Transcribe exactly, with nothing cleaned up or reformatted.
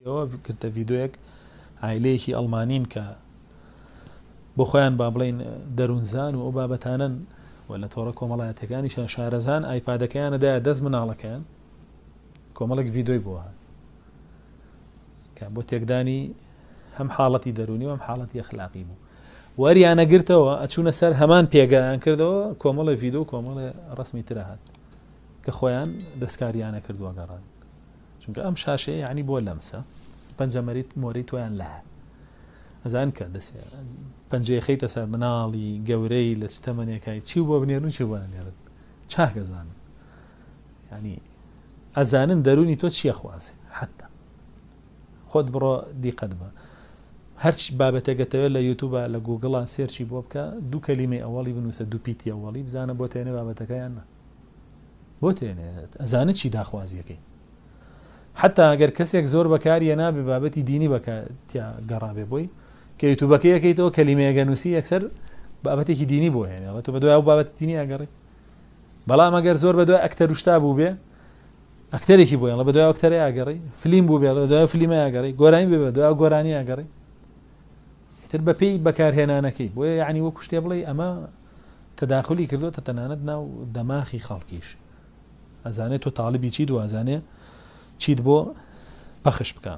ئەوە گرتە ڤیدۆیەک عایلەیەکی ئەڵمانین کە بۆ خۆیان با بڵین دەروونزان و ئەو بابەتانن و لە تۆڕە کۆمەڵایەتەکانیشان شارەزان ئایپادەکەیانە دایە دەست مناڵەکەیان کۆمەڵێک ڤیدۆی بۆ هات کە بۆ تێکدانی هەم حاڵەتی دەرونی و هەم حاڵەتی ئەخلاقی بوو. وەریانە گرتەوە ئەچوونە سەر هەمان پێگەیان کردەوە کۆمەڵێ ڤیدۆ و کۆمەڵێ ڕسمی ترە هات کە خۆیان دەستکاریانە کردووە گەڕان. چونکە ئەم شاشەیە یعنی بۆ لەمسە پەنجەمەریت مۆرەی تۆیان لە ئەزان کە دەسێ پەنجەی خەیتە سەر مناڵی گەورەی لە چ تەمەنێکای چی بۆ بنێرن چی بۆ نەنێرن چاک ئەزانن. یعنی ئەزانن دەرونی تۆ چییە خوازێ. حتا خۆت بڕۆ دیقەت بە هەرچ بابەتێکەتەوێت لە یوتیوبە لە گوگڵا search ی بۆ بکە دوو کەلیمەی ئەوەڵی بنووسە دوو پیتی ئەوەڵی بزانە بۆ تێنێ بابەتەکەیان نا بۆ تێنێ ئەزانە چی داخوازیەکەی. حتا ئەگەر کەسێک زۆر بەکاریە نابێ بابەتی دینی بەکاتیا گەڕابێ بۆی کە یوتیوبەکەی یەکەیتەوە کەلیمەیەگە نووسی یەکسەر بابەتێکی دینی بۆ هێنێ ئەڵێ تۆ بەدوای ئەو بابەتی دینی ئەگەڕی. بەڵام ئەگەر زۆر بەدوای ئەکتەر و شتا بوو بێ ئەکتەرێکی بۆ هێنێ بەدوای ئەکتەرەی ئەگەڕی، فلیم بوو بێ بەدوای فلیمە ئەگەڕی، گۆرانی بێ بەدوای ئەو گۆرانی ئەگەڕی. ئیتر بەپێی بەکارهێنانەکەی بۆیە یعنی وەکو شتێ بڵێ ئەمە تەداخلی کردووە تەنانەت ناو دەماخی خەڵکیش. ئەزانێت تۆ تاڵیبی چیت و ئەزانێ چیت بۆ پەخش بکە.